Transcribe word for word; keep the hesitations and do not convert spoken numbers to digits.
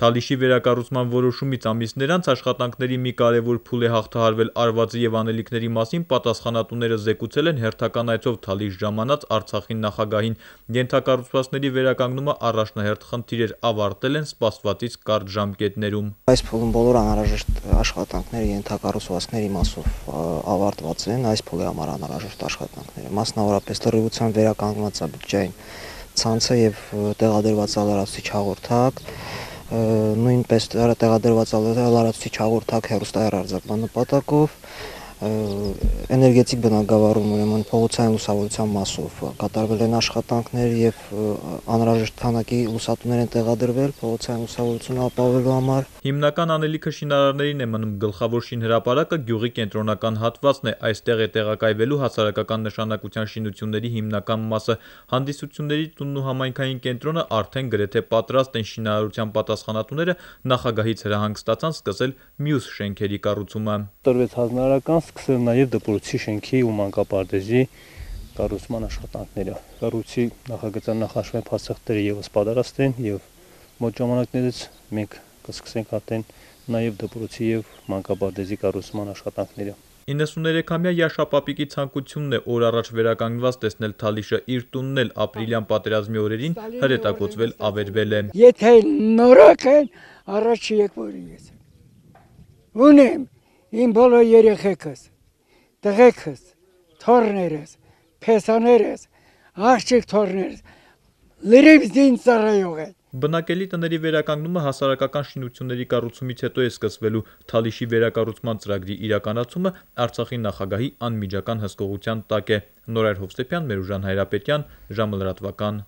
Թալիշի վերակառուցման որոշումից ամիսներ անց աշխատանքների մի կարևոր փուլ է հաղթահարվել արվածի և անելիքների մասին պատասխանատուները զեկուցել են հերթական այցով Թալիշ ժամանած Արցախի նախագահին։ Ենթակառուցվածքների վերականգնումը առաջնահերթ խնդիր էր, ավարտել են սպասվածից կարճ ժամկետներում։ Այս փուլում բոլոր անհրաժեշտ աշխատանքները ենթակառուցվածքների մասով ավարտված են, այս փուլի համար անհրաժեշտ աշխատանքները, մասնավորապես լրիվության վերականգնված է բջջային ցանցը եւ տեղադրված է լրացուցիչ հաղորդակ, նույնպես տեղադրված է լրացուցիչ հաղորդակ հեռուստահեռարձակման նպատակով, էներգետիկ բնագավառում ուրեմն փողոցային լուսավորության մասով կատարվել են աշխատանքներ եւ անհրաժեշտ քանակի լուսատուներ են տեղադրվել փողոցային լուսավորությունը ապահովելու համար։ Հիմնական անելիքը շինարարներին է մնում, գլխավոր շինհրապարակը գյուղի կենտրոնական հատվածն է, այստեղ է տեղակայվելու հասարակական նշանակության շինությունների հիմնական մասը։ Հանդիսությունների տունն ու համայնքային կենտրոնը արդեն գրեթե պատրաստ են, շինարարության պատասխանատուները նախագահից հրահանգ ստացան սկսել մյուս շենքերի կառուցումը։ Տրվեց հանրարական սկսել նաև դպրոցի շենքի ու մանկապարտեզի կառուցման աշխատանքները։ Կառույցի նախագծան նախաշվեն փաստաթղթերը եւս պատրաստ են եւ մոտ ժամանակներից մենք կսկսենք արդեն նաև դպրոցի եւ մանկապարտեզի կառուցման աշխատանքները։ իննսուներեքամյա Յաշա Պապիկի ցանկությունն է օր առաջ վերականգնված տեսնել Թալիշը, իր տունն էլ ապրիլյան պատերազմի օրերին հրետակոծվել ավերվել է։ Եթե նորակ են, առաջ եք որ ես ունեմ իմ բոլոր երեխեքս, տղեկս, թոռներս, փեսաներս, աղջիկ թոռներս, լրիվ զինծ ծառայող են։ Բնակելի տների վերականգնումը հասարակական շինությունների կառուցումից հետո է սկսվելու։ Թալիշի վերակառուցման ծրագրի իրականացումը Արցախի նախագահի անմիջական հսկողության տակ է։ Նորայր Հովսեփյան, Մերուժան Հայրապետյան, ժամը լրատվական։